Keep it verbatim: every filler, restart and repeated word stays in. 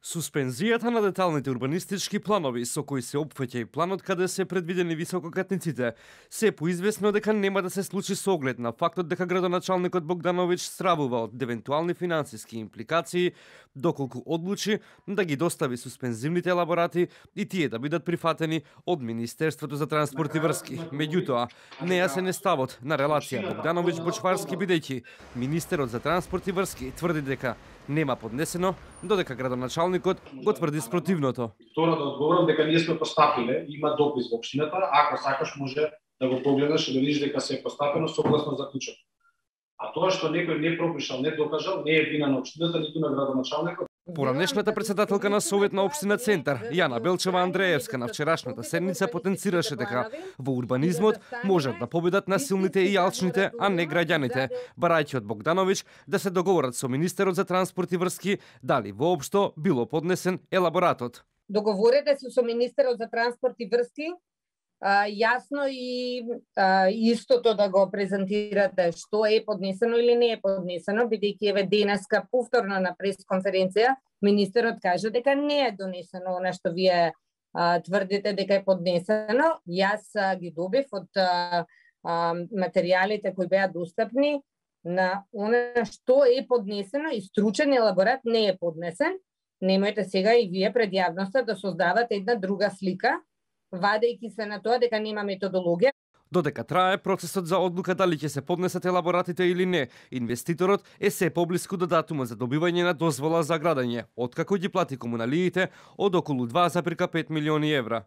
Суспензијата на деталните урбанистички планови со кои се опфаќа и планот каде се предвидени висококатниците, се поизвестно дека нема да се случи со оглед на фактот дека градоначалникот Богдановиќ стравува од евентуални финансиски импликации, доколку одлучи да ги достави суспензивните елаборати и тие да бидат прифатени од Министерството за транспорт и врски. Меѓутоа, нејасен е ставот на релација Богдановиќ-Бочварски, бидејќи министерот за транспорт и врски тврди дека нема поднесено, додека градоначалникот го тврди спротивното. Второ, да одговорам дека ние сме постапиле, има допис во општината, ако сакаш може да го погледнеш и да видиш дека се е постапено согласно заклучок. А тоа што некој не пропишал, не докажал, не е вина на општината, ниту на градоначалникот. Поранешната председателка на Совет на општина Центар, Јана Белчева Андреевска, на вчерашната седница потенцираше дека во урбанизмот можат да победат насилните и јалчните, а не граѓаните, барајќи од Богдановиќ да се договорат со министерот за транспорт и врски дали воопшто било поднесен елаборатот. Договорете се со министерот за транспорт и врски, а, јасно и а, истото да го презентирате што е поднесено или не е поднесено, бидејќи еве денеска повторно на пресконференција министерот кажа дека не е донесено она што вие а, тврдите дека е поднесено. Јас а, ги добив од а, а, материјалите кои беа достапни на она што е поднесено и стручен елаборат не е поднесен. Немојте сега и вие пред јавноста да создавате една друга слика, вадејќи се на тоа дека нема методологија. Додека трае процесот за одлука дали ќе се поднесат елаборатите или не, инвеститорот е се поблиску до датумот за добивање на дозвола за градење, откако ги плати комуналиите од околу два зарем пет милиони евра.